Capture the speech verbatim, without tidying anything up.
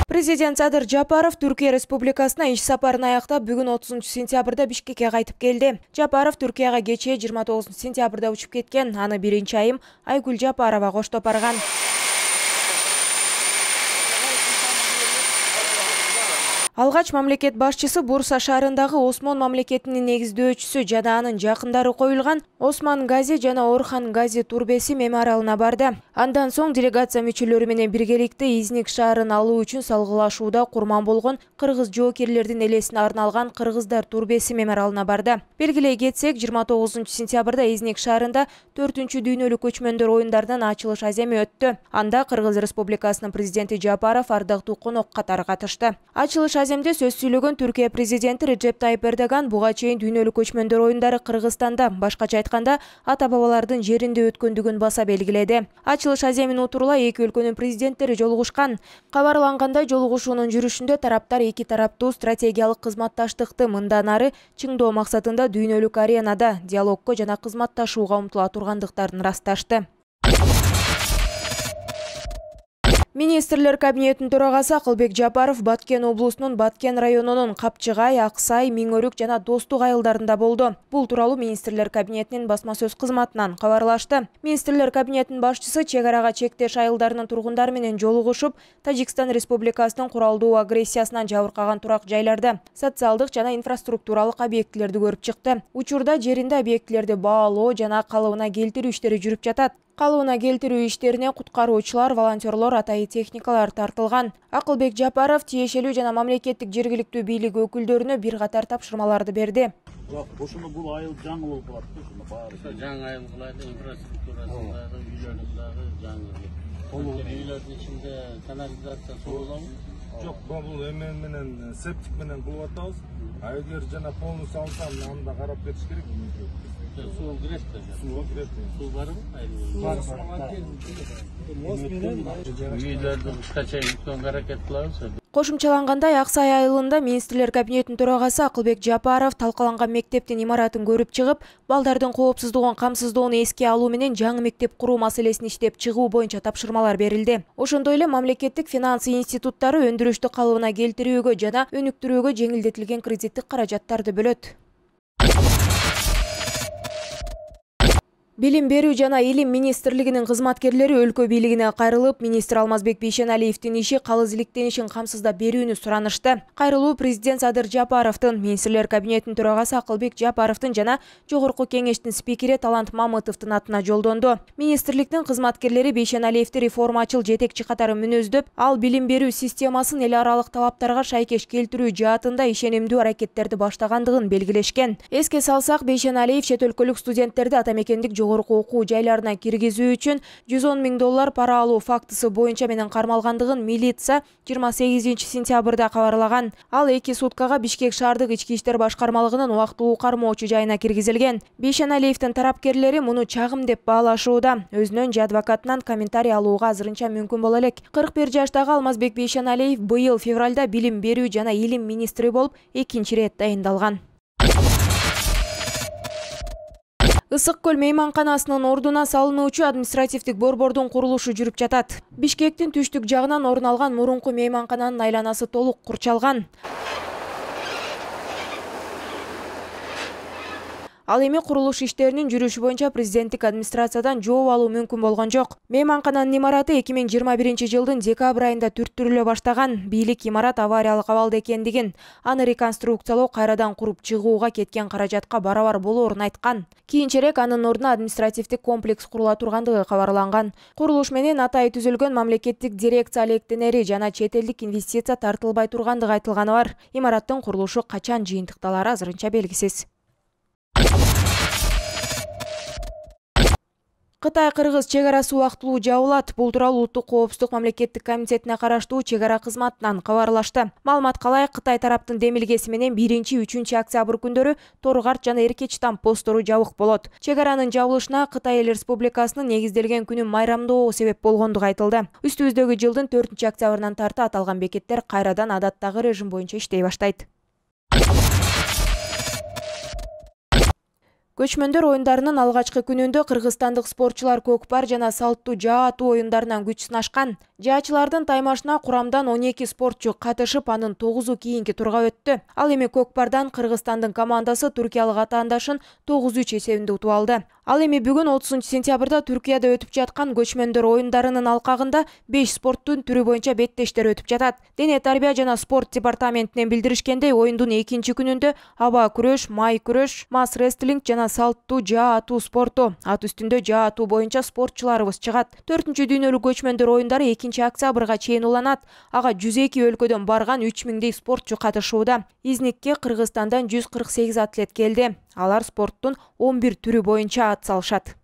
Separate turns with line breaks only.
Президент Садыр Жапаров Түркия Республикасына иш сапарын аяктап бүгүн отузунчу сентябрда Бишкекке кайтып келди. Жапаров Түркияга кечээ жыйырма тогузунчу сентябрда учуп кеткен. Аны биринчи айым Айгүл Жапарова коштоп барган. Алгач мамлекет башчысы Бурса шаарындагы Осмон мамлекетинин негиздөөчүсү жана анын жакындары коюлган Осман Гази жана Орхан Гази турбеси мемориалына барды. Андан соң делегация мүчөлөрү менен биргеликте Изник шаарын алуу үчүн салгылашууда курман болгон кыргыз жоокерлердин элесине арналган Кыргыздар турбеси мемориалына барды. Белгилей кетсек, жыйырма тогузунчу сентябрда Изник шаарында төртүнчү дүйнөлүк көчмөндөр оюндарынын ачылыш аземи өттү. Анда Кыргыз Республикасынын президенти Жапаров ардактуу конок катары катышты. Ачылыш аземде сөз сүйлөгөн Түркия президенти Реджеп Тайип Эрдоган буга чейин дүйнөлүк көчмөндөр оюндары Кыргызстанда, башкача айтканда, ата-бабалардын жеринде өткөндүгүн баса белгиледи. Ачылыш аземин утурула эки өлкөнүн президенттери жолугушкан. Кабарлангандай, жолугушуунун жүрүшүндө тараптар эки тараптуу стратегиялык кызматташтыкты мындан ары чыңдоо максатында дүйнөлүк аренада диалогко жана кызматташууга умтула тургандыктарын ырасташты. Министрлер кабинетинин төрагасы Акылбек Жапаров Баткен облусунун Баткен районунун Капчыгай, Аксай, Миңөрүк жана Достук айылдарында болду. Бул тууралуу Министрлер кабинетинин басма сөз кызматынан кабарлашты. Министрлер кабинетинин башчысы чек арага чектеш айылдарынын тургундары менен жолугушуп, Тажикстан Республикасынын куралдуу агрессиясынан жабыркаган турак жайларда социалдык жана инфраструктуралык объектилерди көрүп чыкты. Учурда жеринде объектилерди баалоо жана калыбына келтирүү иштери жүрүп жатат. Калыбына келтирүү иштерине куткаруучулар, волонтерлор, атайы техникалар тартылган. Акылбек Жапаров тиешелүү жана мамлекеттик жергиликтүү бийлик өкүлдөрүнө бир катар тапшырмаларды берди.
Жок, ушуну бул айыл жаңы болуп калат да, ушуну баары. Жаңы айыл кылайлы, инфраструктурасындагы, үйлөрүндөгү жаңы. Толук үйлөрдүн ичинде канализация суу болобу?
Жок, бул эмен менен септик менен кылып атабыз. А эгер жана полностью алсам, анда карап кетиш керек.
Суу кирет да.
Суу кирет.
Суу барбы? Бар, бар. Үйлөрдү кышка чейин бүткөнгө аракет кылабыз.
Кошумчалангандай, Аксай айылында Министрлер кабинетинин төрагасы Акылбек Жапаров талкаланган мектептин имаратын көрүп чыгып, балдардын коопсуздугун камсыздоону эске алуу менен жаңы мектеп куруу маселесин иштеп чыгуу боюнча тапшырмалар берилди. Ошондой эле мамлекеттик финансы институттары өндүрүштү калыбына келтирүүгө жана өнүктүрүүгө жеңилдетилген кредиттик каражаттарды бөлөт. Билим берүү жана илим министрлигинин кызматкерлери өлкө бийлигине кайрылып, министр Алмазбек Бейшеналиевдин иши калыс иликтенишин камсыздап берүүнү суранышты. Кайрылуу президент Садыр Жапаровдун, Министрлер кабинетинин төрагасы Акылбек Жапаровдун жана Жогорку кеңештин спикери Талант Мамытовдун атына жолдонду. Министрликтин кызматкерлери Бейшеналиевди реформачыл жетекчи катары мүнөздөп, ал билим берүү системасын эл аралык талаптарга шайкеш келтирүү жаатында ишенимдүү аракеттерди баштагандыгын белгилешкен. Эске салсак, Бейшеналиев чет өлкөлүк студенттерди атамекендик жогорку окуу жайларына киргизүү үчүн жүз он миң доллар пара алуу фактысы боюнча менен кармалгандыгын милиция жыйырма сегизинчи сентябрда кабарлаган. Ал эки суткага Бишкек шаардык ички иштер башкармалыгынын убактылуу кармоочу жайына киргизилген. Бейшеналиевдин тарапкерлери муну чагым деп баалашууда. Өзүнөн же адвокатынан комментарий алууга азырынча мүмкүн боло элек. кырк бир жаштагы Алмазбек Бейшеналиев быйыл февралда билим берүү жана илим министри болуп экинчи ирет дайындалган. Ысык көл мейманканасынын ордуна салынуучу административдик борбордун курулушу жүрүп жатат. Бишкектин түштүк жагынан орун алган мурунку мейманкананын айланасы толук курчалган. Ал эми курулуш иштеринин жүрүшү боюнча президенттик администрациядан жооп алуу мүмкүн болгон жок. Мейманкананын имараты эки миң жыйырма биринчи жылдын декабрь айында түрттүрүлө баштаган. Бийлик имарат авариялык абалда экендигин, аны реконструкциялоо кайрадан куруп чыгууга кеткен каражатка барабар болоорун айткан. Кийинчерээк анын ордуна административдик комплекс курула тургандыгы кабарланган. Курулуш менен атайы түзүлгөн мамлекеттик дирекция алектенери жана чет элдик инвестиция тартылбай тургандыгы айтылганы бар. Имараттын курулушу качан жыйынтыкталары азырынча белгисиз. Кытай-Кыргыз чек арасы убактылуу жабылат. Бул тууралуу Улуттук коопсуздук мамлекеттик комитетине караштуу чек ара кызматынан кабарлашты. Маалымат калай, Кытай тараптын демилгеси менен биринчи үчүнчү октябрь күндөрү Торгарт жана Эркечтам посттору жабык болот. Чек аранын жабылышына Кытай Эл Республикасынын негизделген күнүн майрамдоо себеп болгондугу айтылды. Үстүбүздөгү жылдын төртүнчү октябрынан тарта аталган бекеттер кайрадан адаттагы режим боюнча иштей баштайт. Көчмөндөр оюндарынын алгачкы күнүндө кыргызстандык спортчулар көкпар жана салттуу жаа атуу оюндарынан күч сынашкан. Жаачылардын таймашына курамдан он эки спортчу катышып, анын тогузу кийинки турга өттү. Ал эми көкпардан Кыргызстандын командасы туркиялык атаандашын тогуз үч эсебинде утуп алды. Ал эми бүгүн отузунчу сентябрда Түркияда өтүп жаткан көчмөндөр оюндарынын алкагында беш спорттун түрү боюнча беттештер өтүп жатат. Дене тарбия жана спорт департаментинен билдиришкендей, оюндун экинчи күнүндө аба күрөш, май күрөш, мас рестлинг жана салттуу жаа атуу спорту, ат үстүндө жаа атуу боюнча спортчуларыбыз чыгат. төртүнчү дүйнөлүк көчмөндөр оюндары экинчи октябрга чейин уланат. Ага жүз эки өлкөдөн барган үч миңдей спортчу катышууда. Изникке Кыргызстандан жүз кырк сегиз атлет келди. Алар спорттун он бир түрү боюнча ат салышат.